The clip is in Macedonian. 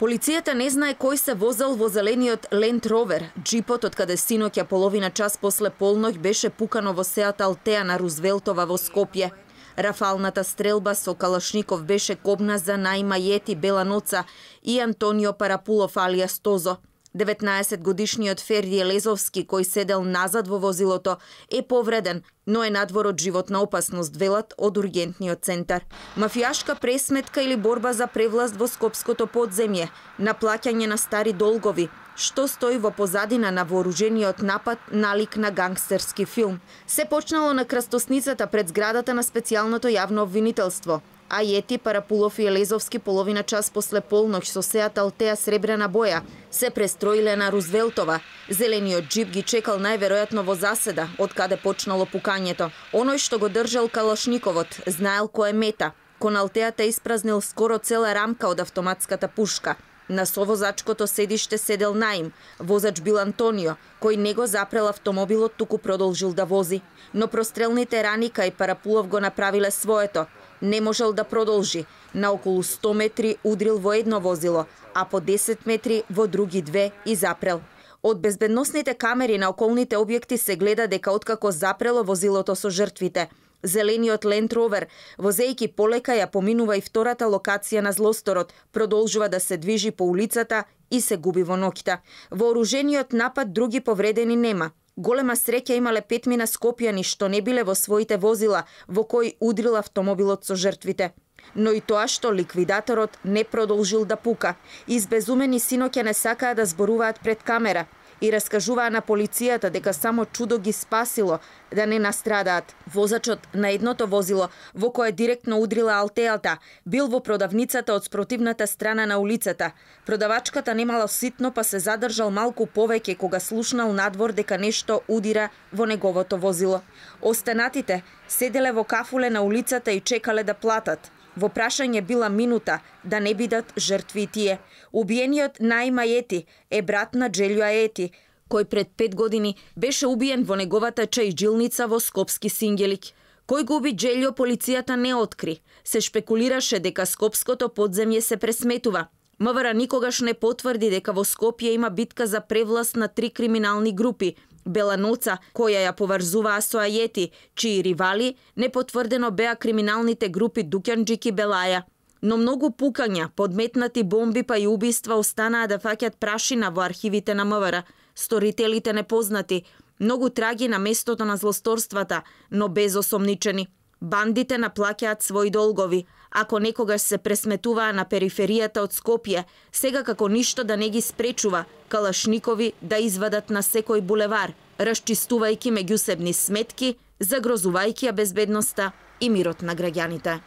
Полицијата не знае кој се возел во зелениот Land Rover. Джипот, од каде синоќа половина час после полноќ беше пукано во сеат Алтеа на Рузвелтова во Скопје. Рафалната стрелба со калашников беше кобна за Наима Јети Беланоца и Антонио Парапулов алијас Тозо. 19-годишниот Ферди Елезовски, кој седел назад во возилото, е повреден, но е надвор од животна опасност, велат од ургентниот центар. Мафијашка пресметка или борба за превласт во скопското подземје, наплаќање на стари долгови, што стои во позадина на вооружениот напад налик на гангстерски филм. Се почнало на крстосницата пред зградата на специјалното јавно обвинителство. А Јети, Парапулов и Елезовски половина час после полноќ со сеат Алтеа сребрена боја се престроиле на Рузвелтова. Зелениот джип ги чекал најверојатно во заседа, од каде почнало пукањето. Оној што го држал калашниковот знаел кој е мета. Кон Алтеата испразнил скоро цела рамка од автоматската пушка. На совозачкото седиште седел Наим, возач бил Антонио, кој не го запрел автомобилот, туку продолжил да вози. Но прострелните рани кај Парапулов го направиле своето. Не можел да продолжи. На околу 100 метри удрил во едно возило, а по 10 метри во други две и запрел. Од безбедносните камери на околните објекти се гледа дека откако запрело возилото со жртвите, зелениот Land Rover, возејќи полека ја поминува и втората локација на злосторот, продолжува да се движи по улицата и се губи во ноќта. Вооружениот напад други повредени нема. Голема среќа имале 5 скопјани што не биле во своите возила, во кои удрил автомобилот со жртвите. Но и тоа што ликвидаторот не продолжил да пука. Избезумени синоќа не сакаа да зборуваат пред камера и раскажуваа на полицијата дека само чудо ги спасило да не настрадаат. Возачот на едното возило, во кое директно удрила Алтеата, бил во продавницата од спротивната страна на улицата. Продавачката немала ситно, па се задржал малку повеќе кога слушнал надвор дека нешто удира во неговото возило. Останатите седеле во кафуле на улицата и чекале да платат. Во прашање била минута да не бидат жртви и тие. Убиениот Наима Јети е брат на Джелјо Аети, кој пред 5 години беше убиен во неговата чајджилница во Скопски Сингелик. Кој го уби Джелјо, полицијата не откри. Се шпекулираше дека скопското подземје се пресметува. МВР никогаш не потврди дека во Скопје има битка за превласт на 3 криминални групи. Беланоца, која ја поврзуваа со Аети, чии ривали непотврдено беа криминалните групи Дукјанџик и Белаја. Но многу пукања, подметнати бомби па и убиства останаа да фаќат прашина во архивите на МВР. Сторителите непознати, многу траги на местото на злосторствата, но без осомничени. Бандите наплаќаат своји долгови. Ако некогаш се пресметуваа на периферијата од Скопје, сега како ништо да не ги спречува калашникови да извадат на секој булевар, расчистувајќи меѓусебни сметки, загрозувајќи ја безбедноста и мирот на граѓаните.